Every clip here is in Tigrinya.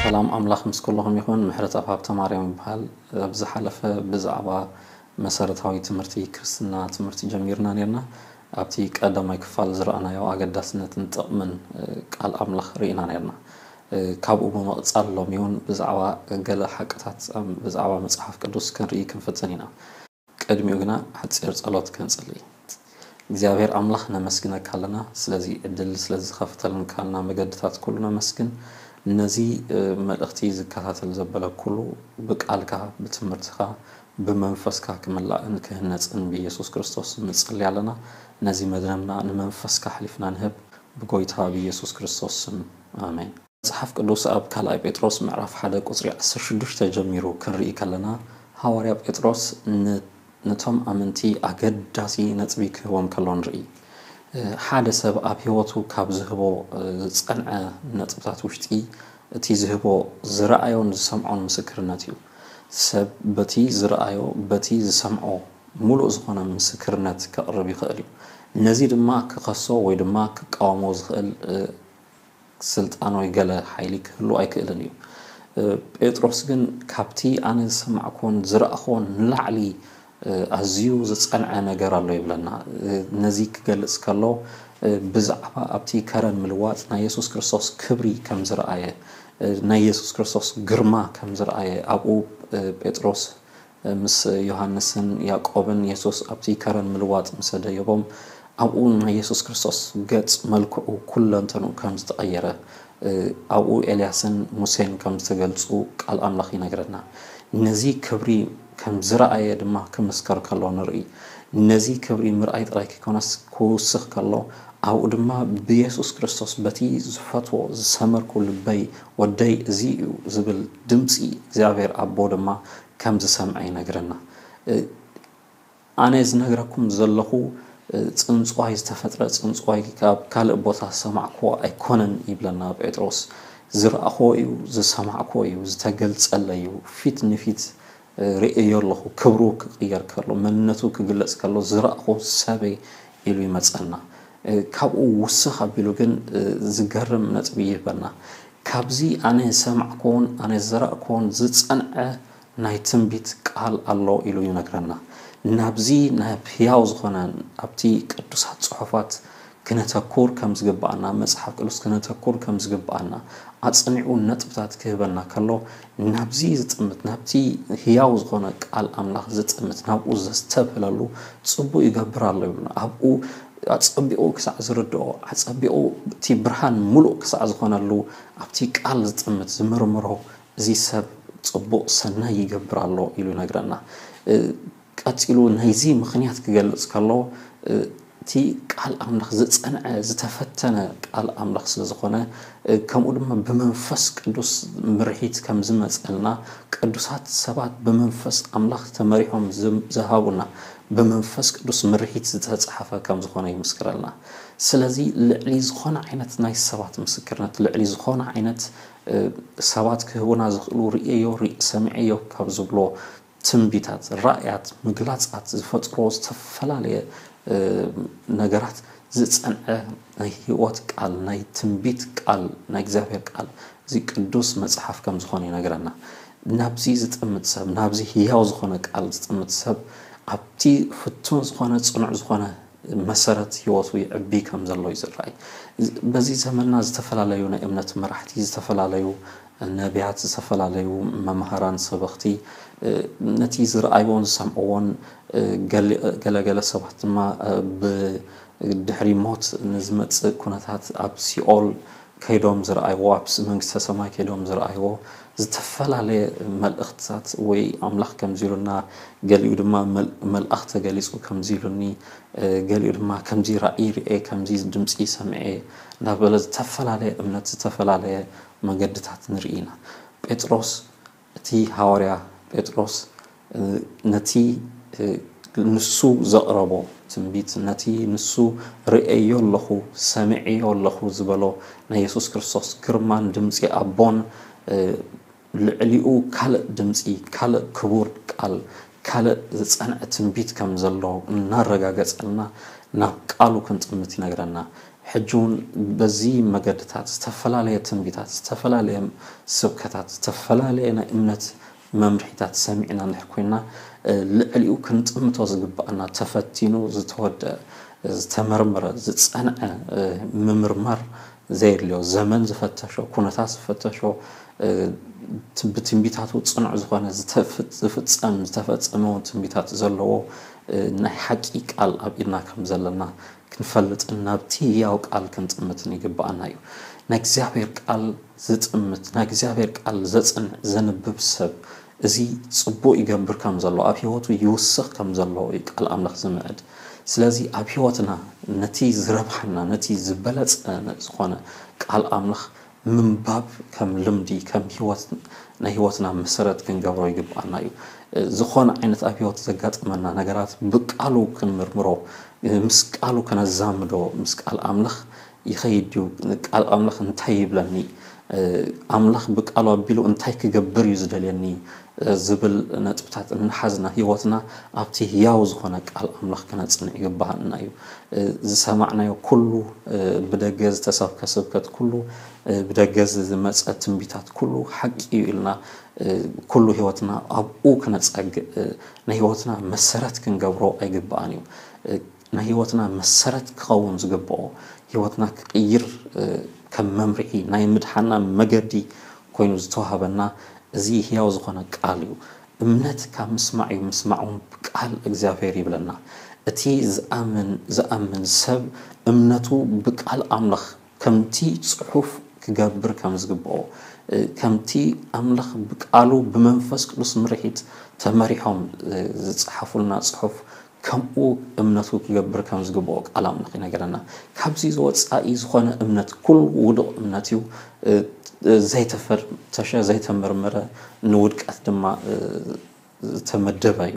ሰላም ኣምላኽ ምስ ኩልኹም ይኹን። ምሕረት ኣብ ሃብተ ማርያም ይበሃል። ኣብ ዝሓለፈ ብዛዕባ መሰረታዊ ትምህርቲ ክርስትና ትምህርቲ ጀሚርና ነርና። ኣብቲ ቀዳማይ ክፋል ዝረኣናዮ ኣገዳስነትን ጥቕምን ቃል ኣምላኽ ርኢና ነርና። ካብኡ ብምቕጻል ሎሚ እውን ብዛዕባ ገለ ሓቅታት ብዛዕባ መጽሓፍ ቅዱስ ክንርኢ ክንፍትን ኢና። ቅድሚኡ ግና ሓጺር ጸሎት ከንጽሊ። እግዚኣብሔር ኣምላኽ ነመስግነካ ኣለና ስለዚ ዕድል ስለዚ ዝኸፍተልንካልና መገድታት ኩሉ ነመስግን። ነዚ መልእኽቲ ዝከታተል ዘበለ ኩሉ ብቃልካ ብትምህርትኻ ብመንፈስካ ክምላእን ክህነጽን ብኢየሱስ ክርስቶስ ንጽሊ ኣለና። ነዚ መድረምና ንመንፈስካ ኣሕሊፍና ንህብ ብጎይታ ብኢየሱስ ክርስቶስ ስም ኣሜን። መጽሓፍ ቅዱስ ኣብ ካልኣይ ጴጥሮስ ምዕራፍ ሓደ ቁጽሪ ዓሰርተ ሽዱሽተ ጀሚሩ ክንርኢ ከለና፣ ሃዋርያ ጴጥሮስ ን-፣ ነቶም ኣመንቲ ኣገዳሲ ነጥቢ ክህቦም ከሎ ንርኢ። ሓደ ሰብ ኣብ ህይወቱ ካብ ዝህቦ ዝጸንዐ ነጥብታት ውሽጢ፣ እቲ ዝህቦ ዝረኣዮን ዝሰምዖን ምስክርነት እዩ። ሰብ በቲ ዝረኣዮ፣ በቲ ዝሰምዖ፣ ምሉእ ዝኾነ ምስክርነት ከቕርብ ይኽእል እዩ። ነዚ ድማ ክኸሶ ወይ ድማ ክቃወሞ ዝኽእል ስልጣን ወይ ገለ ሓይሊ ክህሉ ኣይክእልን እዩ። ጴጥሮስ ግን ካብቲ ኣነ ዝሰማዕኩዎን ዝረኣኹዎን ንላዕሊ ኣዝዩ ዝጸንዐ ነገር ኣሎ ይብለና። ነዚ ክገልጽ ከሎ ብዛዕባ ኣብቲ ከረን ምልዋጥ ናይ የሱስ ክርስቶስ ክብሪ ከም ዝረኣየ፣ ናይ የሱስ ክርስቶስ ግርማ ከም ዝረኣየ ኣብኡ ጴጥሮስ ምስ ዮሃንስን ያዕቆብን የሱስ ኣብቲ ከረን ምልዋጥ ምስ ኣደየቦም ኣብኡ ናይ የሱስ ክርስቶስ ገጽ መልክዑ ኩለንተንኡ ከም ዝተቐየረ ኣብኡ ኤልያስን ሙሴን ከም ዝተገልጹ ቃል ኣምላኽ ይነግረና። ነዚ ክብሪ ከም ዝረኣየ ድማ ክምስከር ከሎ ንርኢ። ነዚ ክብሪ ምርኣይ ጥራይ ከይኮነስ ክውስኽ ከሎ ኣብኡ ድማ ብየሱስ ክርስቶስ በቲ ዝፈትዎ ዝሰመርኩ ልበይ ወደይ እዚ እዩ ዝብል ድምፂ እግዚኣብሔር ኣቦ ድማ ከም ዝሰምዐ ይነግረና። ኣነ ዝነግረኩም ዘለኹ ጽንጽዋይ ዝተፈጥረ ጽንጽዋይ ካብ ካልእ ቦታ ዝሰማዕክዎ ኣይኮነን ይብለና ጴጥሮስ። ዝረኣኽዎ እዩ፣ ዝሰማዕክዎ እዩ፣ ዝተገልጸለይ እዩ፣ ፊት ንፊት ርእዮ ኣለኹ። ክብሩ ክቕየር ከሎ፣ መንነቱ ክግለጽ ከሎ ዝረኣኽዎ ሰበይ ኢሉ ይመጸና። ካብኡ ውስኽ ኣቢሉ ግን ዝገርም ነጥቢ ይህበና። ካብዚ ኣነ ዝሰማዕክዎን ኣነ ዝዘራእክዎን ዝጸንዐ ናይ ትንቢት ቃል ኣሎ ኢሉ ይነግረና። ናብዚ ናብ ህያው ዝኾነ ኣብቲ ቅዱሳት ጽሑፋት ክነተኩር ከም ዝግብኣና፣ መጽሓፍ ቅዱስ ክነተኩር ከም ዝግብኣና ኣጽኒዑ ነጥብታት ክህበና ከሎ፣ ናብዚ ዝጥምት፣ ናብቲ ህያው ዝኾነ ቃል ኣምላኽ ዝጥምት፣ ናብኡ ዘስተብህለሉ ጽቡቕ ይገብር ኣሎ ይብሉና። ኣብኡ ኣጸቢቑ ክሳዕ ዝርድኦ፣ ኣጸቢቑ እቲ ብርሃን ምሉእ ክሳዕ ዝኾነሉ፣ ኣብቲ ቃል ዝጥምት፣ ዝምርምሮ፣ እዚ ሰብ ጽቡቕ ሰናይ ይገብር ኣሎ ኢሉ ይነግረና። እ፣ ቀጺሉ ናይዚ ምኽንያት ክገልጽ ከሎ፣ እ፣ እቲ ቃል ኣምላኽ ዝጸንዐ፣ ዝተፈተነ ቃል ኣምላኽ ስለ ዝኾነ፣ እ፣ ከምኡ ድማ ብመንፈስ ቅዱስ ምርሒት ከም ዝመጸልና፣ ቅዱሳት ሰባት ብመንፈስ ኣምላኽ ተመሪሖም ዝም-፣ ዝሃቡና፣ ብመንፈስ ቅዱስ ምርሒት ዝተጻሕፈ ከም ዝኾነ ይምስክረልና። ስለዚ ልዕሊ ዝኾነ ዓይነት ናይ ሰባት ምስክርነት፣ ልዕሊ ዝኾነ ዓይነት፣ እ፣ ሰባት ክህቡና ዝኽእሉ ርእየዮ፣ ርኢ-፣ ሰሚዐዮ ካብ ዝብሎ ትንቢታት፣ ራእያት፣ ምግላጻት ዝፈጥሮ ዝተፈላለየ፣ እ፣ ነገራት ዝጸንዐ ናይ ህይወት ቃል፣ ናይ ትንቢት ቃል፣ ናይ እግዚኣብሔር ቃል፣ እዚ ቅዱስ መጽሓፍ ከም ዝኾነ ይነግረና። ናብዚ ዝጥምት ሰብ፣ ናብዚ ህያው ዝኾነ ቃል ዝጥምት ሰብ፣ ኣብቲ ፍቱን ዝኾነ፣ ጽኑዕ ዝኾነ መሰረት ህይወቱ ይዕቢ ከም ዘሎ እዩ ዝረኣይ። በዚ ዘመንና ዝተፈላለዩ ናይ እምነት መራሕቲ፣ ዝተፈላለዩ ነቢያት፣ ዝተፈላለዩ መምሃራን ሰበኽቲ፣ እ፣ ነቲ ዝረኣይዎን ዝሰምዕዎን፣ እ፣ ገሊ-፣ ገለገለ ሰባት ድማ፣ እ፣ ብድሕሪ ሞት ንዝመጽእ ኩነታት ኣብ ሲኦል ከይዶም ዝረኣይዎ፣ ኣብ ስ-፣ መንግስተ ሰማይ ከይዶም ዝረኣይዎ፣ ዝተፈላለየ መልእኽትታት ወይ ኣምላኽ ከምዚ ኢሉና፣ ገሊኡ ድማ መል-፣ መልኣኽ ተገሊጹ ከምዚ ኢሉኒ፣ እ፣ ገሊኡ ድማ ከምዚ ራእይ ርኤ፣ ከምዚ ድምጺ ሰምዐ እናበለ ዝተፈላለየ እምነት፣ ዝተፈላለየ መገድታት ንርኢ ኢና። ጴጥሮስ፣ እቲ ሃዋርያ ጴጥሮስ፣ እ፣ ነቲ፣ እ፣ ንሱ ዘቕረቦ ትንቢት፣ ነቲ ንሱ ርእየዮ ኣለኹ፣ ሰምዐዮ ኣለኹ ዝበሎ ናይ የሱስ ክርስቶስ ግርማን ድምጺ ኣቦን፣ እ፣ ልዕሊኡ ካልእ ድምጺ፣ ካልእ ክቡር ቃል፣ ካልእ ዝጸንዐ ትንቢት ከም ዘሎ እናረጋገጸልና ናብ ቃሉ ክንጥምት ይነግረና። ሕጂ እውን በዚ መገድታት ዝተፈላለየ ትንቢታት፣ ዝተፈላለየ ስብከታት፣ ዝተፈላለየ ናይ እምነት መምርሒታት ሰሚዕና እንድሕር ኮይንና፣ እ፣ ልዕሊኡ ክንጥምቶ ዝግብኣና ተፈቲኑ ዝተወደአ፣ ዝተመርመረ፣ ዝጸንዐ፣ እ፣ ምምርማር ዘየድልዮ፣ ዘመን ዝፈተሾ፣ ኩነታት ዝፈተሾ፣ እ፣ ት-፣ ብትንቢታቱ ጽኑዕ ዝኾነ ዝተፍ-፣ ዝፍጸም፣ ዝተፈጸመ እውን ትንቢታት ዘለዎ፣ እ፣ ናይ ሓቂ ቃል ኣብ ኢድና ከም ዘለና ክንፈልጥን ናብቲ ህያው ቃል ክንጥምትን ይግብኣና እዩ። ናይ እግዚኣብሔር ቃል ዝጥምት፣ ናይ እግዚኣብሔር ቃል ዘጽንዕ፣ ዘንብብ ሰብ፣ እዚ ጽቡቕ ይገብር ከም ዘሎ፣ ኣብ ህይወቱ ይውስኽ ከም ዘሎ እዩ ቃል ኣምላኽ ዝምዕድ። ስለዚ ኣብ ህይወትና ነቲ ዝረብሓና፣ ነቲ ዝበለጸ ዝኾነ ቃል ኣምላኽ ምንባብ ከም ልምዲ፣ ከም ህይወት፣ ናይ ህይወትና መሰረት ክንገብሮ ይግብኣና እዩ። እ፣ ዝኾነ ዓይነት ኣብ ህይወት ዘጋጥመና ነገራት ብቃሉ ክንምርምሮ፣ እ፣ ምስ ቃሉ ከነዛምዶ፣ ምስ ቃል ኣምላኽ ይኸይድ ድዩ? ቃል ኣምላኽ እንታይ ይብለኒ? እ፣ ኣምላኽ ብቃሉ ኣቢሉ እንታይ ክገብር እዩ ዝደልየኒ? እ፣ ዝብል ነጥብታት እናሓዝና ህይወትና ኣብቲ ህያው ዝኾነ ቃል ኣምላኽ ክነጽንዕ ይግባኣና እዩ። እ፣ ዝሰማዕናዮ ኩሉ፣ እ፣ ብደገ ዝተሰብከ ስብከት ኩሉ፣ እ፣ ብደገ ዝመጸ ትንቢታት ኩሉ ሓቂ እዩ ኢልና፣ እ፣ ኩሉ ህይወትና ኣብኡ ክነጸግእ፣ እ፣ ናይ ህይወትና መሰረት ክንገብሮ ኣይግባኣን እዩ። እ፣ ናይ ህይወትና መሰረት ክኸውን ዝግብኦ፣ ህይወትና ክቕይር፣ እ፣ ከም መምርሒ ናይ ምድሓና መገዲ ኮይኑ ዝተዋህበና እዚ ህያው ዝኾነ ቃል እዩ። እምነት ካብ ምስማዕ እዩ፣ ምስማዕ እውን ብቃል እግዚኣብሔር ይብለና። እቲ ዝኣምን፣ ዝኣምን ሰብ እምነቱ ብቃል ኣምላኽ ከምቲ ጽሑፍ ክገብር ከም ዝግብኦ፣ እ፣ ከምቲ ኣምላኽ ብቃሉ ብመንፈስ ቅዱስ ምርሒት ተመሪሖም፣ እ፣ ዝጸሓፉልና ጽሑፍ ከምኡ እምነቱ ክገብር ከም ዝግብኦ ቃል ኣምላኽ ይነግረና። ካብዚ ዝወጻኢ ዝኾነ እምነት ኩሉ ውዱቕ እምነት እዩ፣ እ፣ ዘይተፈተሸ፣ ዘይተመርመረ፣ ንውድቀት ድማ፣ እ፣ ዝተመደበ እዩ።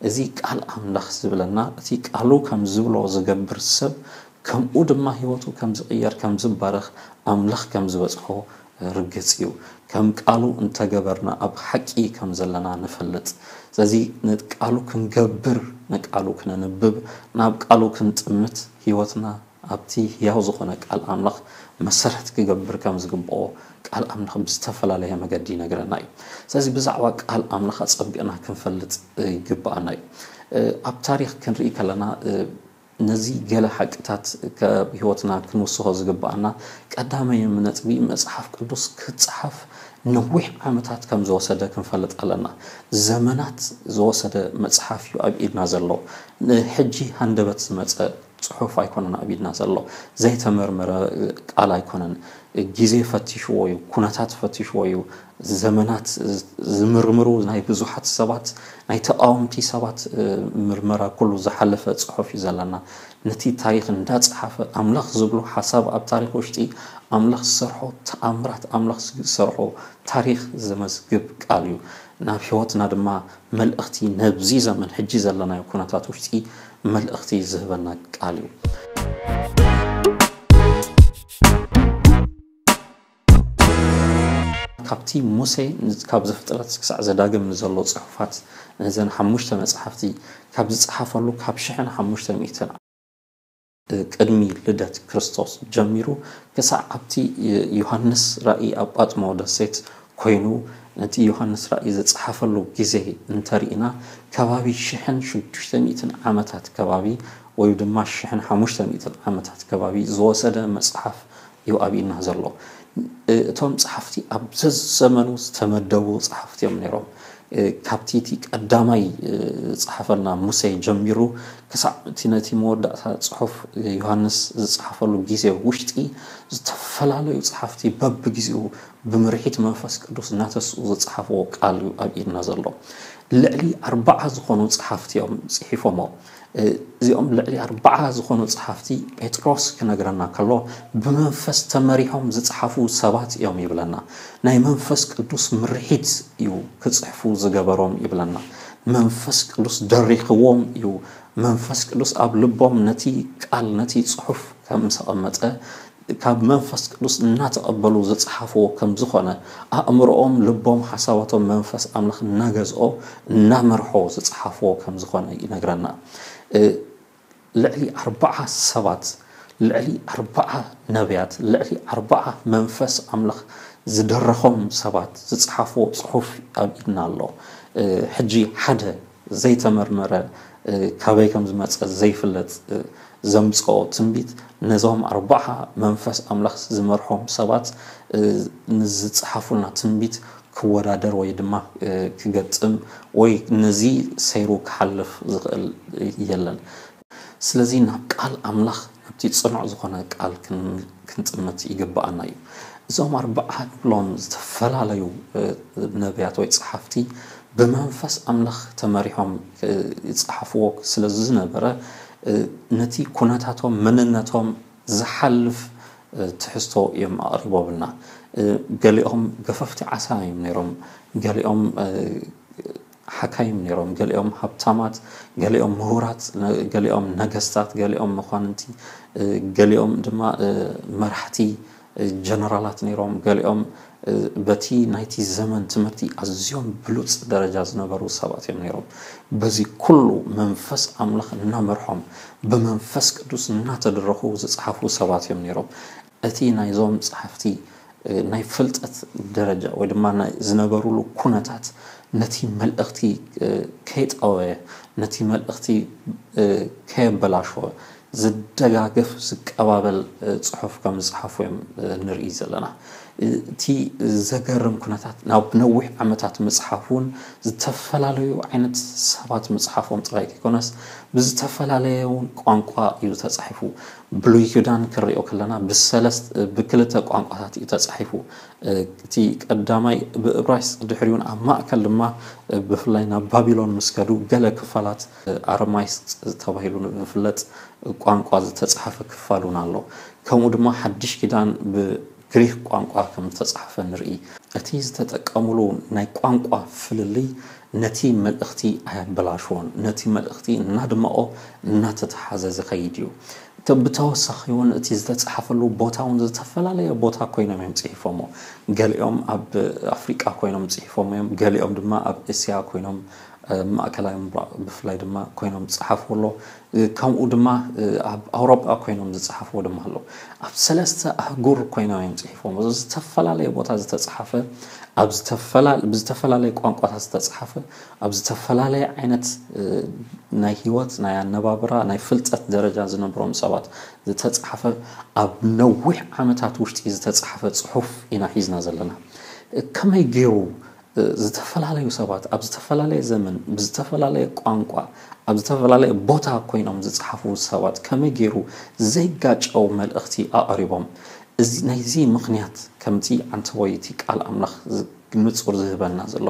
እዚ ቃል ኣምላኽ ዝብለና፣ እቲ ቃሉ ከም ዝብሎ ዝገብር ሰብ፣ ከምኡ ድማ ህይወቱ ከም ዝቕየር፣ ከም ዝባረኽ፣ ኣምላኽ ከም ዝበጽሖ ርግጽ እዩ። ከም ቃሉ እንተገበርና ኣብ ሓቂ ከም ዘለና ንፈልጥ። ስለዚ ንቃሉ ክንገብር፣ ንቃሉ ክነንብብ፣ ናብ ቃሉ ክንጥምት፣ ህይወትና ኣብቲ ህያው ዝኾነ ቃል ኣምላኽ መሰረት ክገብር ከም ዝግብኦ ቃል ኣምላኽ ብዝተፈላለየ መገዲ ይነግረና እዩ። ስለዚ ብዛዕባ ቃል ኣምላኽ ኣጸቢቕና ክንፈልጥ ይግብኣና እዩ። እ፣ ኣብ ታሪኽ ክንርኢ ከለና፣ እ፣ ነዚ ገለ ሓቅታት ካብ ህይወትና ክንውስኾ ዝግብኣና ቀዳማይ ነጥቢ፣ መጽሓፍ ቅዱስ ክጸሓፍ ነዊሕ ዓመታት ከም ዝወሰደ ክንፈልጥ ኣለና። ዘመናት ዝወሰደ መጽሓፍ እዩ ኣብ ኢድና ዘሎ። ንሕጂ ሃንደበት ዝመጸ ጽሑፍ ኣይኮነን ኣብ ኢድና ዘሎ። ዘይተመርመረ ቃል ኣይኮነን። ግዜ ፈቲሽዎ እዩ፣ ኩነታት ፈቲሽዎ እዩ። ዘመናት ዝምርምሩ ናይ ብዙሓት ሰባት፣ ናይ ተቃወምቲ ሰባት፣ እ፣ ምርመራ ኩሉ ዝሓለፈ ጽሑፍ እዩ ዘለና። ነቲ ታሪኽ እንዳጸሓፈ ኣምላኽ ዝብሎ ሓሳብ ኣብ ታሪኽ ውሽጢ፣ ኣምላኽ ዝሰርሖ ተኣምራት፣ ኣምላኽ ዝሰርሖ ታሪኽ ዘመዝግብ ቃል እዩ። ናብ ህይወትና ድማ መልእኽቲ፣ ነብዚ ዘመን ሕጂ ዘለናዮ ኩነታት ውሽጢ መልእኽቲ ዝህበና ቃል እዩ። ካብቲ ሙሴ፣ ካብ ዘፍጥረት ክሳዕ ዘዳግም ንዘሎ ጽሑፋት፣ ነዘን ሓሙሽተ መጽሓፍቲ ካብ ዝጸሓፈሉ ካብ ሽሕን ሓሙሽተ ሚእትን ቅድሚ ልደት ክርስቶስ ጀሚሩ ክሳዕ ኣብቲ ዮሃንስ ራእይ ኣብ ጳጥሞ ደሴት ኮይኑ ነቲ ዮሃንስ ራእይ ዝጸሓፈሉ ግዜ እንተርኢና፣ ከባቢ ሽሕን ሽዱሽተ ሚእትን ዓመታት ከባቢ ወይ ድማ ሽሕን ሓሙሽተ ሚእትን ዓመታት ከባቢ ዝወሰደ መጽሓፍ እዩ ኣብ ኢድና ዘሎ። እቶም ጸሓፍቲ ኣብ ዘዘመኑ ዝተመደቡ ጸሓፍቲ እዮም ነይሮም። ካብቲ እቲ ቀዳማይ ዝጸሓፈልና ሙሴ ጀሚሩ ክሳዕ እቲ ነቲ መወዳእታ ጽሑፍ ዮሃንስ ዝጸሓፈሉ ግዜ ውሽጢ ዝተፈላለዩ ጸሓፍቲ በብግዜኡ ብምርሒት መንፈስ ቅዱስ እናተስኡ ዝጸሓፍዎ ቃል እዩ ኣብ ኢድና ዘሎ። ልዕሊ ኣርባዓ ዝኾኑ ጸሓፍቲ እዮም ጽሒፎሞ። እዚኦም ልዕሊ ኣርባዓ ዝኾኑ ጸሓፍቲ ጴጥሮስ ክነግረና ከሎ ብመንፈስ ተመሪሖም ዝጸሓፉ ሰባት እዮም ይብለና። ናይ መንፈስ ቅዱስ ምርሒት እዩ ክጽሕፉ ዝገበሮም ይብለና። መንፈስ ቅዱስ ደሪኽዎም እዩ። መንፈስ ቅዱስ ኣብ ልቦም ነቲ ቃል ነቲ ጽሑፍ ከም ዝተቐመጠ ካብ መንፈስ ቅዱስ እናተቐበሉ ዝጸሓፍዎ ከም ዝኾነ ኣእምሮኦም ልቦም ሓሳባቶም መንፈስ ኣምላኽ እናገዝኦ እናመርሖ ዝጸሓፍዎ ከም ዝኾነ ይነግረና። ልዕሊ ኣርባዓ ሰባት ልዕሊ ኣርባዓ ነቢያት ልዕሊ ኣርባዓ መንፈስ ኣምላኽ ዝደረኾም ሰባት ዝጸሓፍዎ ጽሑፍ ኣብ ኢድና ኣሎ። ሕጂ ሓደ ዘይተመርመረ ካበይ ከም ዝመጸ ዘይፍለጥ ዘምጽኦ ትንቢት ነዞም ኣርባዓ መንፈስ ኣምላኽ ዝመርሖም ሰባት ንዝጸሓፉልና ትንቢት ክወዳደር ወይ ድማ ክገጥም ወይ ነዚ ሰይሩ ክሓልፍ ዝኽእል የለን። ስለዚ ናብ ቃል ኣምላኽ ናብቲ ጽኑዕ ዝኾነ ቃል ክንጥምት ይግብኣና እዩ። እዞም ኣርባዓ ንብሎም ዝተፈላለዩ ነቢያት ወይ ጸሓፍቲ ብመንፈስ ኣምላኽ ተመሪሖም ይጸሓፍዎ ስለ ዝነበረ ነቲ ኩነታቶም መንነቶም ዝሓልፍ ትሕዝቶ እዮም ኣቕሪቦምልና። ገሊኦም ገፈፍቲ ዓሳ እዮም ነይሮም፣ ገሊኦም ሓካይም ነይሮም፣ ገሊኦም ሃብታማት፣ ገሊኦም ምሁራት፣ ገሊኦም ነገስታት፣ ገሊኦም መኳንንቲ፣ ገሊኦም ድማ መራሕቲ ጀነራላት ነይሮም፣ ገሊኦም በቲ ናይቲ ዘመን ትምህርቲ ኣዝዮም ብሉጽ ደረጃ ዝነበሩ ሰባት እዮም ነይሮም። በዚ ኩሉ መንፈስ ኣምላኽ እናመርሖም ብመንፈስ ቅዱስ እናተደረኹ ዝጸሓፉ ሰባት እዮም ነይሮም። እቲ ናይዞም ጸሓፍቲ ናይ ፍልጠት ደረጃ ወይ ድማ ዝነበሩሉ ኩነታት ነቲ መልእኽቲ ከይጠወየ ነቲ መልእኽቲ ከየበላሸወ ዝደጋገፍ ዝቀባበል ጽሑፍ ከም ዝጸሓፉ እዮም ንርኢ ዘለና። እቲ ዘገርም ኩነታት ናብ ነዊሕ ዓመታት ምጽሓፍ እውን ዝተፈላለዩ ዓይነት ሰባት ምጽሓፎም ጥራይ ከይኮነስ ብዝተፈላለየ እውን ቋንቋ እዩ ተጻሒፉ። ብሉይ ኪዳን ክንሪኦ ከለና ብሰለስተ ብክልተ ቋንቋታት እዩ ተጻሒፉ። እቲ ቀዳማይ ብእብራይስጥ ድሕሪኡን ኣብ ማእከል ድማ ብፍላይ ናብ ባቢሎን ምስ ከዱ ገለ ክፋላት ኣረማይስጥ ተባሂሉ ብፍለጥ ቋንቋ ዝተጻሓፈ ክፋል እውን ኣሎ። ከምኡ ድማ ሓድሽ ኪዳን ብግሪክ ቋንቋ ከም ዝተጻሓፈ ንርኢ። እቲ ዝተጠቀሙሉ ናይ ቋንቋ ፍልልይ ነቲ መልእኽቲ ኣየበላሽዎን፣ ነቲ መልእኽቲ እናድመቖ እናተተሓዘ ዝኸይድ እዩ። ብተወሳኺ እውን እቲ ዝተጻሓፈሉ ቦታ እውን ዝተፈላለየ ቦታ ኮይኖም እዮም ጽሒፎሞ። ገሊኦም ኣብ ኣፍሪቃ ኮይኖም ጽሒፎም እዮም፣ ገሊኦም ድማ ኣብ እስያ ኮይኖም ማእከላይ ምብራቕ ብፍላይ ድማ ኮይኖም ዝጸሓፉ ኣሎ። ከምኡ ድማ ኣብ ኣውሮጳ ኮይኖም ዝጸሓፍዎ ድማ ኣሎ። ኣብ ሰለስተ ኣህጉር ኮይኖም እዮም ጽሒፎም። እዚ ዝተፈላለየ ቦታ ዝተጻሓፈ ኣብ ብዝተፈላለየ ቋንቋታት ዝተጻሓፈ ኣብ ዝተፈላለየ ዓይነት ናይ ህይወት ናይ ኣነባብራ ናይ ፍልጠት ደረጃ ዝነብሮም ሰባት ዝተጻሓፈ ኣብ ነዊሕ ዓመታት ውሽጢ ዝተጻሓፈ ጽሑፍ ኢና ሒዝና ዘለና። ከመይ ገይሩ ዝተፈላለዩ ሰባት ኣብ ዝተፈላለየ ዘመን ብዝተፈላለየ ቋንቋ ኣብ ዝተፈላለየ ቦታ ኮይኖም ዝጸሓፉ ሰባት ከመይ ገይሩ ዘይጋጨው መልእኽቲ ኣቕሪቦም? እዚ ናይዚ ምኽንያት ከምቲ ዓንተቦይ እቲ ቃል ኣምላኽ ንጹር ዝህበና ዘሎ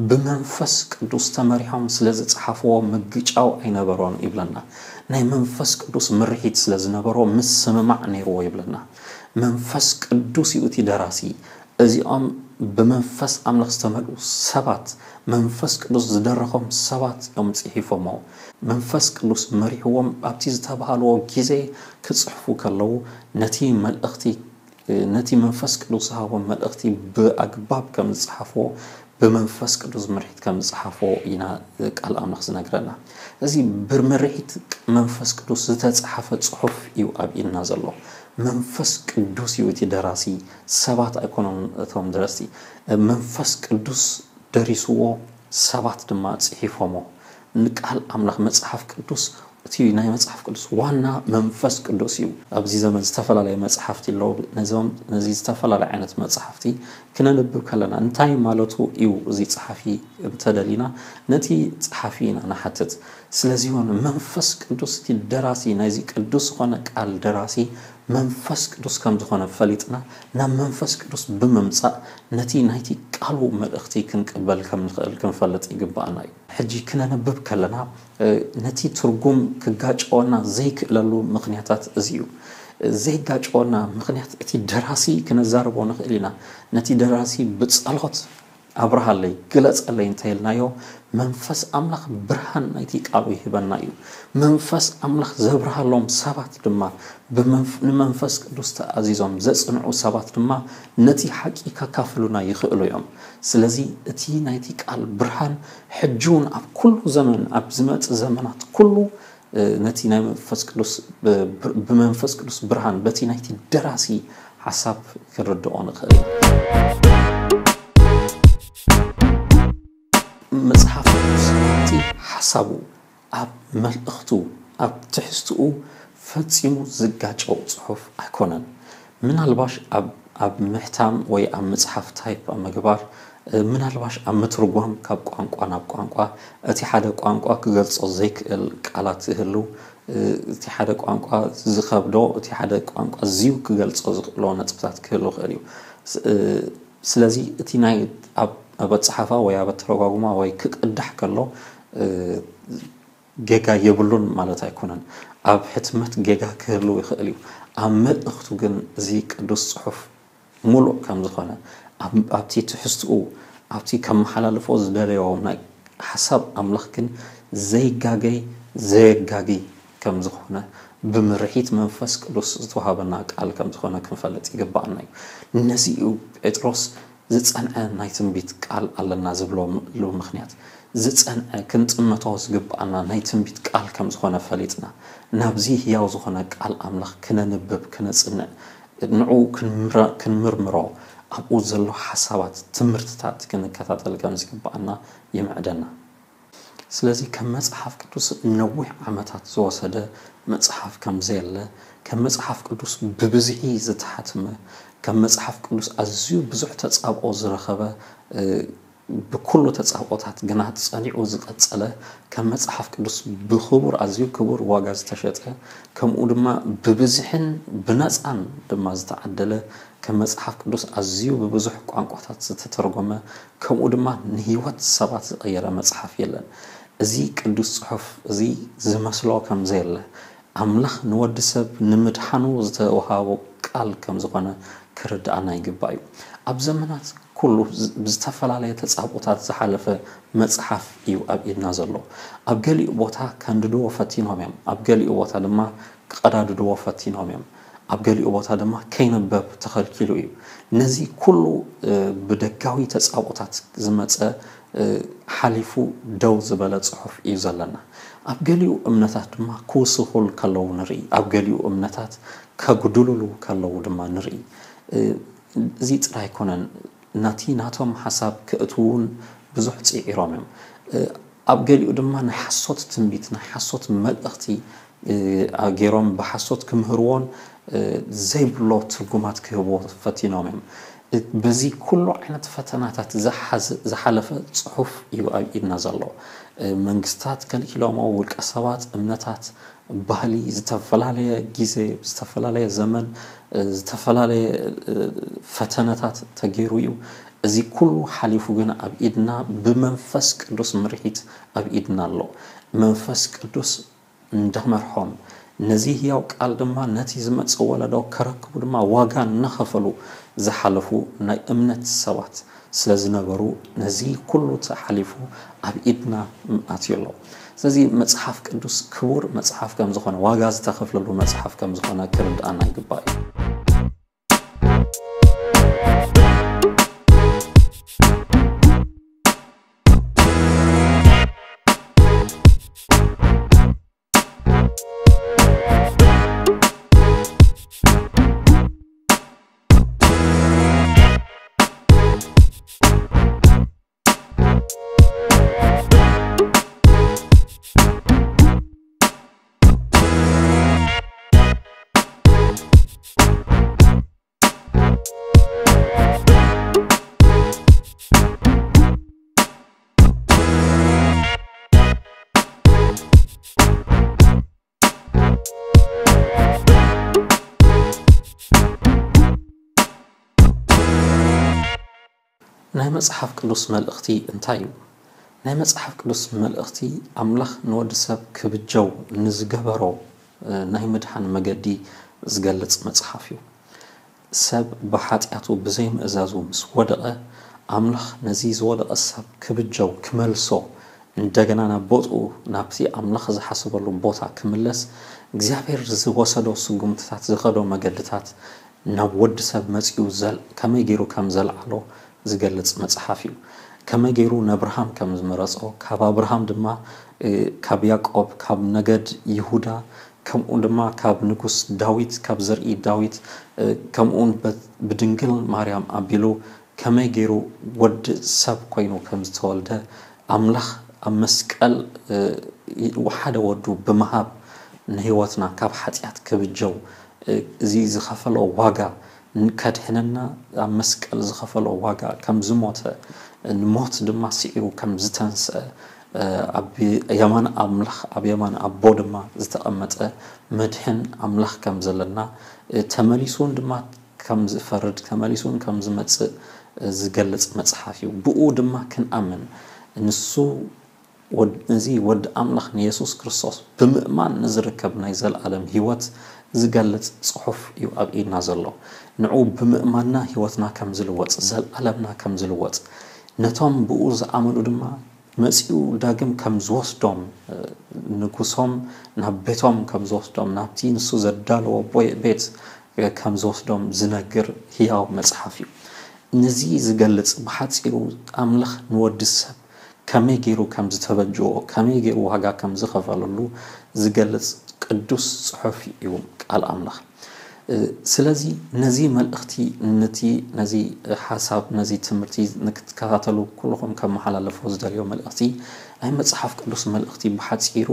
ብመንፈስ ቅዱስ ተመሪሖም ስለ ዝጸሓፍዎ ምግጫው ኣይነበሮን ይብለና። ናይ መንፈስ ቅዱስ ምርሒት ስለ ዝነበሮ ምስምማዕ ነይርዎ ይብለና። መንፈስ ቅዱስ እዩ እቲ ደራሲ። እዚኦም ብመንፈስ ኣምላኽ ዝተመልኡ ሰባት መንፈስ ቅዱስ ዝደረኾም ሰባት እዮም ጽሒፎሞ። መንፈስ ቅዱስ መሪሕዎም ኣብቲ ዝተባሃልዎ ግዜ ክጽሕፉ ከለዉ ነቲ መልእኽቲ ነቲ መንፈስ ቅዱስ ዝሃቦም መልእኽቲ ብኣግባብ ከም ዝጸሓፍዎ ብመንፈስ ቅዱስ ምርሒት ከም ዝጸሓፍዎ ኢና ቃል ኣምላኽ ዝነግረና። እዚ ብምርሒት መንፈስ ቅዱስ ዝተጸሓፈ ጽሑፍ እዩ ኣብ ኢድና ዘሎ። መንፈስ ቅዱስ እዩ እቲ ደራሲ፣ ሰባት ኣይኮኑን እቶም ደረስቲ። መንፈስ ቅዱስ ደሪስዎ፣ ሰባት ድማ ጽሒፎሞ። ንቃል ኣምላኽ መጽሓፍ ቅዱስ እቲ ናይ መጽሓፍ ቅዱስ ዋና መንፈስ ቅዱስ እዩ። ኣብዚ ዘመን ዝተፈላለየ መጽሓፍቲ ኣለዉ። ነዞም ነዚ ዝተፈላለየ ዓይነት መጽሓፍቲ ክነንብብ ከለና እንታይ ማለቱ እዩ እዚ ጸሓፊ እንተደሊና ነቲ ጸሓፊ ኢና ንሓትት። ስለዚ እውን መንፈስ ቅዱስ እቲ ደራሲ ናይዚ ቅዱስ ዝኾነ ቃል ደራሲ መንፈስ ቅዱስ ከም ዝኾነ ፈሊጥና ናብ መንፈስ ቅዱስ ብምምጻእ ነቲ ናይቲ ቃሉ መልእኽቲ ክንቅበል ከም ንኽእል ክንፈልጥ ይግባኣና እዩ። ሕጂ ክነንብብ ከለና ነቲ ትርጉም ክጋጨወና ዘይክእለሉ ምኽንያታት እዚ እዩ። ዘይጋጨወና ምኽንያት እቲ ደራሲ ክነዛርቦ ንኽእል ኢና። ነቲ ደራሲ ብጸሎት ኣብርሃለይ ግለጸለይ እንተኢልናዮ መንፈስ ኣምላኽ ብርሃን ናይቲ ቃሉ ይህበና እዩ። መንፈስ ኣምላኽ ዘብርሃሎም ሰባት ድማ ንመንፈስ ቅዱስ ተኣዚዞም ዘጽንዑ ሰባት ድማ ነቲ ሓቂ ከካፍሉና ይኽእሉ እዮም። ስለዚ እቲ ናይቲ ቃል ብርሃን ሕጂ እውን ኣብ ኩሉ ዘመን ኣብ ዝመጽእ ዘመናት ኩሉ ነቲ ናይ መንፈስ ቅዱስ ብመንፈስ ቅዱስ ብርሃን በቲ ናይቲ ደራሲ ሓሳብ ክንርድኦ ንኽእል። መጽሓፍ ቅዱስ እቲ ሓሳቡ ኣብ መልእኽቱ ኣብ ትሕዝትኡ ፈጺሙ ዝጋጨው ጽሑፍ ኣይኮነን። ምናልባሽ ኣብ ኣብ ምሕታም ወይ ኣብ ምጽሓፍ ታይፕ ኣብ ምግባር ምናልባሽ ኣብ ምትርጓም ካብ ቋንቋ ናብ ቋንቋ እቲ ሓደ ቋንቋ ክገልጾ ዘይክእል ቃላት ይህሉ። እቲ ሓደ ቋንቋ ዝኸብዶ እቲ ሓደ ቋንቋ ዝዩ ክገልጾ ዝኽእሎ ነጥብታት ክህሉ ይኽእል እዩ። ስለዚ እቲ ናይ ኣብ ኣበጻሓፋ ወይ ኣብ ኣተረጓጉማ ወይ ክቅዳሕ ከሎ ጌጋ የብሉን ማለት ኣይኮነን። ኣብ ሕትመት ጌጋ ክህሉ ይኽእል እዩ። ኣብ መልእኽቱ ግን እዚ ቅዱስ ጽሑፍ ሙሉእ ከም ዝኾነ ኣብቲ ትሕዝትኡ ኣብቲ ከመሓላልፎ ዝደለዮ ናይ ሓሳብ ኣምላኽ ግን ዘይጋገይ ዘየጋጊ ከም ዝኾነ ብምርሒት መንፈስ ቅዱስ ዝተዋሃበና ቃል ከም ዝኾነ ክንፈልጥ ይግባኣና እዩ። ነዚ እዩ ጴጥሮስ ዝጸንዐ ናይ ትንቢት ቃል ኣለና ዝብለሉ ምኽንያት ዝጸንዐ ክንጥመቶ ዝግባኣና ናይ ትንቢት ቃል ከም ዝኾነ ፈሊጥና ናብዚ ህያው ዝኾነ ቃል ኣምላኽ ክነንብብ ክነጽንዕ ንዕኡ ክንምርምሮ ኣብኡ ዘሎ ሓሳባት ትምህርትታት ክንከታተል ከም ዝግባኣና ይምዕደና። ስለዚ ከም መጽሓፍ ቅዱስ ነዊሕ ዓመታት ዝወሰደ መጽሓፍ ከም ዘየለ ከም መጽሓፍ ቅዱስ ብብዝሒ ዝተሓትመ ከም መጽሓፍ ቅዱስ ኣዝዩ ብዙሕ ተጻብኦ ዝረኸበ ብኩሉ ተጻብኦታት ግና ጸኒዑ ዝቐጸለ ከም መጽሓፍ ቅዱስ ብክቡር ኣዝዩ ክቡር ዋጋ ዝተሸጠ ከምኡ ድማ ብብዝሕን ብነጻን ድማ ዝተዓደለ ከም መጽሓፍ ቅዱስ ኣዝዩ ብብዙሕ ቋንቋታት ዝተተርጎመ ከምኡ ድማ ንህይወት ሰባት ዝቐየረ መጽሓፍ የለን። እዚ ቅዱስ ጽሑፍ እዚ ዝመስሎ ከም ዘየለ ኣምላኽ ንወዲ ሰብ ንምድሓኑ ዝተወሃቦ ቃል ከም ዝኾነ ክርድኣና ይግባእ እዩ። ኣብ ዘመናት ኩሉ ብዝተፈላለየ ተጻብኦታት ዝሓለፈ መጽሓፍ እዩ ኣብ ኢድና ዘሎ። ኣብ ገሊኡ ቦታ ከንድድዎ ፈቲኖም እዮም፣ ኣብ ገሊኡ ቦታ ድማ ክቐዳድድዎ ፈቲኖም እዮም፣ ኣብ ገሊኡ ቦታ ድማ ከይንበብ ተኸልኪሉ እዩ። ነዚ ኩሉ ብደጋዊ ተጻብኦታት ዝመጸ ሓሊፉ ደው ዝበለ ጽሑፍ እዩ ዘለና። ኣብ ገሊኡ እምነታት ድማ ክውስኹል ከለዉ ንርኢ፣ ኣብ ገሊኡ እምነታት ከጉድሉሉ ከለዉ ድማ ንርኢ። እዚ ጥራይ ኣይኮነን፣ ናቲ ናቶም ሓሳብ ክእትውን ብዙሕ ጽዒሮም እዮም። ኣብ ገሊኡ ድማ ናይ ሓሶት ትንቢት ናይ ሓሶት መልእኽቲ ገይሮም ብሓሶት ክምህርዎን ዘይብሎ ትርጉማት ክህብዎ ፈቲኖም እዮም። በዚ ኩሉ ዓይነት ፈተናታት ዝሓለፈ ጽሑፍ እዩ ኣብ ኢድና ዘሎ። መንግስታት ከልኪሎሞ፣ ውልቀ ሰባት፣ እምነታት፣ ባህሊ፣ ዝተፈላለየ ግዜ፣ ዝተፈላለየ ዘመን፣ ዝተፈላለየ ፈተነታት ተገይሩ እዩ። እዚ ኩሉ ሓሊፉ ግን ኣብ ኢድና ብመንፈስ ቅዱስ ምርሒት ኣብ ኢድና ኣሎ። መንፈስ ቅዱስ እንዳመርሖም ነዚ ህያው ቃል ድማ ነቲ ዝመጽእ ወለዶ ከረክቡ ድማ ዋጋ እናኸፈሉ ዝሓለፉ ናይ እምነት ሰባት ስለ ዝነበሩ ነዚ ኩሉ ተሓሊፉ ኣብ ኢድና ኣትዩ ኣሎ። ስለዚ መጽሓፍ ቅዱስ ክቡር መጽሓፍ ከም ዝኾነ ዋጋ ዝተኸፍለሉ መጽሓፍ ከም ዝኾነ ክርድኣና ይግባእ እዩ። ናይ መጽሓፍ ቅዱስ መልእኽቲ እንታይ እዩ? ናይ መጽሓፍ ቅዱስ መልእኽቲ ኣምላኽ ንወዲ ሰብ ክብጀው ንዝገበሮ፣ እ፣ ናይ ምድሓን መገዲ ዝገልጽ መጽሓፍ እዩ። ሰብ ብሓጢኣቱ ብዘይምእዛዙ ምስ ወደቐ፣ ኣምላኽ ነዚ ዝወደቐ ሰብ ክብጀው፣ ክመልሶ፣ እንደገና ናብ ቦትኡ፣ ናብቲ ኣምላኽ ዝሓሰበሉ ቦታ ክምለስ፣ እግዚኣብሔር ዝወሰዶ ስጉምትታት፣ ዝኸዶ መገድታት፣ ናብ ወዲ ሰብ መጺኡ ዘል-፣ ከመይ ገይሩ ከም ዘልዓሎ ዝገልጽ መጽሓፍ እዩ። ከመይ ገይሩ ነብርሃም ከም ዝመረጾ፣ ካብ ኣብርሃም ድማ፣ እ፣ ካብ ያዕቆብ፣ ካብ ነገድ ይሁዳ፣ ከምኡ ድማ ካብ ንጉስ ዳዊት፣ ካብ ዘርኢ ዳዊት፣ እ፣ ከምኡውን በት-፣ ብድንግል ማርያም ኣቢሉ ከመይ ገይሩ ወዲ ሰብ ኮይኑ ከም ዝተወልደ፣ ኣምላኽ ኣብ መስቀል፣ እ፣ ይ-፣ ሓደ ወዱ ብምሃብ ንህይወትና ካብ ሓጢኣት ክብጀው፣ እ፣ እዚ ዝኸፈሎ ዋጋ ን-፣ ከድሕነና ኣብ መስቀል ዝኸፈሎ ዋጋ ከም ዝሞተ፣ እ፣ ንሞት ድማ ስዒሩ ከም ዝተንስአ፣ እ፣ ኣብ የማን ኣምላኽ፣ ኣብ የማን ኣቦ ድማ ዝተቐመጠ መድሕን ኣምላኽ ከም ዘለና፣ እ፣ ተመሊሱ እውን ድማ ከም ዝፈርድ፣ ተመሊሱ እውን ከም ዝመጽእ፣ እ፣ ዝገልጽ መጽሓፍ እዩ። ብኡ ድማ ክንኣምን፣ ንሱ ወድ-፣ እዚ ወዲ ኣምላኽ ንየሱስ ክርስቶስ ብምእማን ንዝርከብ ናይ ዘለኣለም ህይወት ዝገልጽ ጽሑፍ እዩ ኣብ ኢድና ዘሎ። ንዕኡ ብምእማንና ህይወትና ከም ዝልወጥ፣ ዘለኣለምና ከም ዝልወጥ፣ ነቶም ብኡ ዝኣመኑ ድማ መጺኡ ዳግም ከም ዝወስዶም፣ እ፣ ንጉሶም ናብ ቤቶም ከም ዝወስዶም፣ ናብቲ ንሱ ዘዳለዎ ቦ-፣ ቤት፣ እ፣ ከም ዝወስዶም ዝነግር ህያው መጽሓፍ እዩ። ነዚ ዝገልጽ ብሓጺሩ ኣምላኽ ንወዲ ሰብ ከመይ ገይሩ ከም ዝተበጅዎ፣ ከመይ ገይሩ ዋጋ ከም ዝኸፈለሉ ዝገልጽ ቅዱስ ጽሑፍ እዩ ቃል ኣምላኽ። እ፣ ስለዚ ነዚ መልእኽቲ፣ ነቲ፣ ነዚ ሓሳብ፣ ነዚ ትምህርቲ ንክትከታተሉ ኩልኹም ከመሓላለፎ ዝደልዮ መልእኽቲ፣ ናይ መጽሓፍ ቅዱስ መልእኽቲ ብሓጺሩ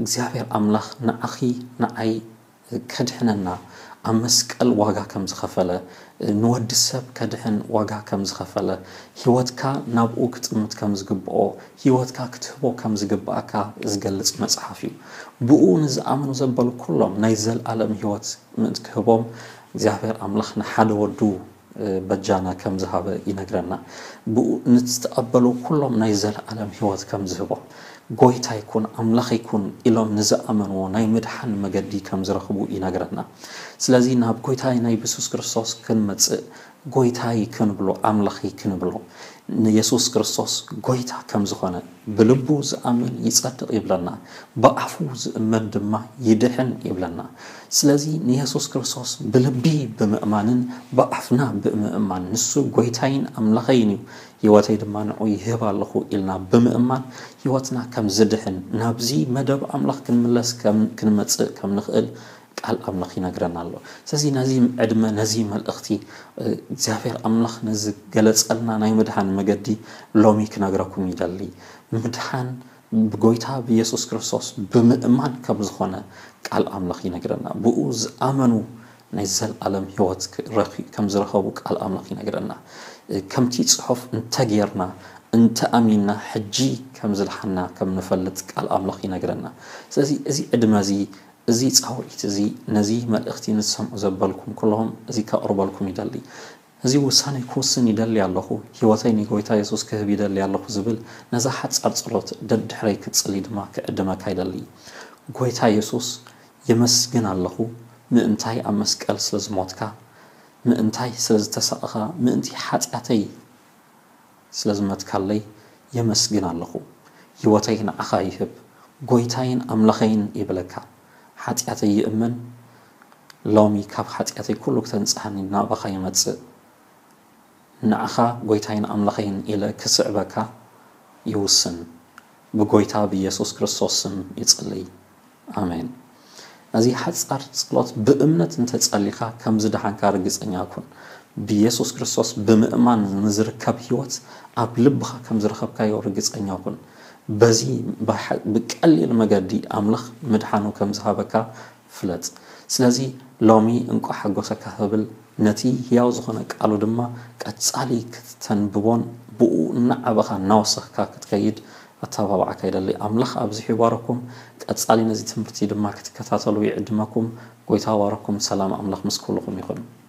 እግዚኣብሔር ኣምላኽ ንዓኺ ንዓይ ከድሕነና ኣብ መስቀል ዋጋ ከም ዝኸፈለ፣ ንወዲ ሰብ ከድሕን ዋጋ ከም ዝኸፈለ፣ ህይወትካ ናብኡ ክጥምት ከም ዝግብኦ፣ ህይወትካ ክትህቦ ከም ዝግብኣካ ዝገልጽ መጽሓፍ እዩ። ብኡ ንዝኣምኑ ዘበሉ ኩሎም ናይ ዘልኣለም ህይወት ምእንቲ ክህቦም እግዚኣብሔር ኣምላኽ ንሓደ ወዱ በጃና ከም ዝሃበ ይነግረና። ብኡ ንዝተቐበሉ ኩሎም ናይ ዘለኣለም ህይወት ከም ዝህቦም፣ ጎይታይ ኩን፣ ኣምላኸይ ኩን ኢሎም ንዝኣመንዎ ናይ ምድሓን መገዲ ከም ዝረኽቡ ይነግረና። ስለዚ ናብ ጎይታይ ናይ የሱስ ክርስቶስ ክንመጽእ፣ ጎይታይ ክንብሎ፣ ኣምላኸይ ክንብሎ፣ ንየሱስ ክርስቶስ ጎይታ ከም ዝኾነ ብልቡ ዝኣምን ይጸድቕ ይብለና፣ ብኣፉ ዝእመን ድማ ይድሕን ይብለና። ስለዚ ንየሱስ ክርስቶስ ብልቢ ብምእማንን ብኣፍና ብምእማን፣ ንሱ ጎይታይን ኣምላኸይን እዩ፣ ህይወተይ ድማ ንዑ ይህብ ኣለኹ ኢልና ብምእማን፣ ህይወትና ከም ዝድሕን፣ ናብዚ መደብ ኣምላኽ ክንምለስ ከም፣ ክንመጽእ ከም ንኽእል ቃል ኣምላኽ ይነግረና ኣሎ። ስለዚ ነዚ ዕድመ፣ ነዚ መልእኽቲ፣ እ፣ እግዚኣብሔር ኣምላኽ ንዝገለጸልና ናይ ምድሓን መገዲ ሎሚ ክነግረኩም ይደሊ። ምድሓን ብጎይታ ብየሱስ ክርስቶስ ብምእማን ከም ዝኾነ ቃል ኣምላኽ ይነግረና። ብኡ ዝኣመኑ ናይ ዘለኣለም ህይወት ክረኽ-፣ ከም ዝረኸቡ ቃል ኣምላኽ ይነግረና። እ፣ ከምቲ ጽሑፍ እንተጌርና፣ እንተኣሚንና፣ ሕጂ ከም ዝደሓንና ከም ንፈልጥ ቃል ኣምላኽ ይነግረና። ስለዚ እዚ ዕድመ እዚ፣ እዚ ጻውዒት እዚ፣ ነዚ መልእኽቲ ንትሰምዑ ዘበልኩም ኩለኹም፣ እዚ ከቕርበልኩም ይደሊ። እዚ ውሳኔ ክውስን ይደሊ ኣለኹ፣ ህይወተይ ንጎይታ የሱስ ክህብ ይደሊ ኣለኹ ዝብል፣ ነዛ ሓጻር ጸሎት ደድሕረይ ክትጽሊ ድማ ክዕድመካ ይደሊ። ጎይታ የሱስ፣ የመስግን ኣለኹ፣ ምእንታይ ኣብ መስቀል ስለ ዝሞትካ፣ ምእንታይ ስለ ዝተሳቕኻ፣ ምእንቲ ሓጢኣተይ ስለ ዝመትካለይ የመስግን ኣለኹ። ህይወተይ ንዓኻ ይህብ፣ ጎይታይን ኣምላኸይን ይብለካ። ሓጢኣተይ ይእመን፣ ሎሚ ካብ ሓጢኣተይ ኩሉ ክተንጽሃኒ ናባኻ ይመጽእ። ንዓኻ ጎይታይን ኣምላኸይን ኢለ ክስዕበካ ይውስን። ብጎይታ ብየሱስ ክርስቶስ ስም ይጽልይ። ኣሜን። ነዚ ሓጻር ጸሎት ብእምነት እንተጸሊኻ ከም ዝደሓንካ ርግጸኛ ኩን። ብየሱስ ክርስቶስ ብምእማን ንዝርከብ ህይወት ኣብ ልብኻ ከም ዝረኸብካዮ ርግጸኛ ኩን። በዚ ብሓ-፣ ብቀሊል መገዲ ኣምላኽ ምድሓኑ ከም ዝሃበካ ፍለጥ። ስለዚ ሎሚ እንቋዕ ሓጎሰካ ክብል፣ ነቲ ህያው ዝኾነ ቃሉ ድማ ቀጻሊ ክትተንብቦን ብኡ እናዓበኻ እናወሰኽካ ክትከይድ ኣተባብዓካ ይደሊ። ኣምላኽ ኣብዚሑ ይባረኩም። ቀጻሊ ነዚ ትምህርቲ ድማ ክትከታተሉ ይዕድመኩም። ጎይታ ይባረኩም። ሰላም ኣምላኽ ምስ ኩልኹም ይኹን።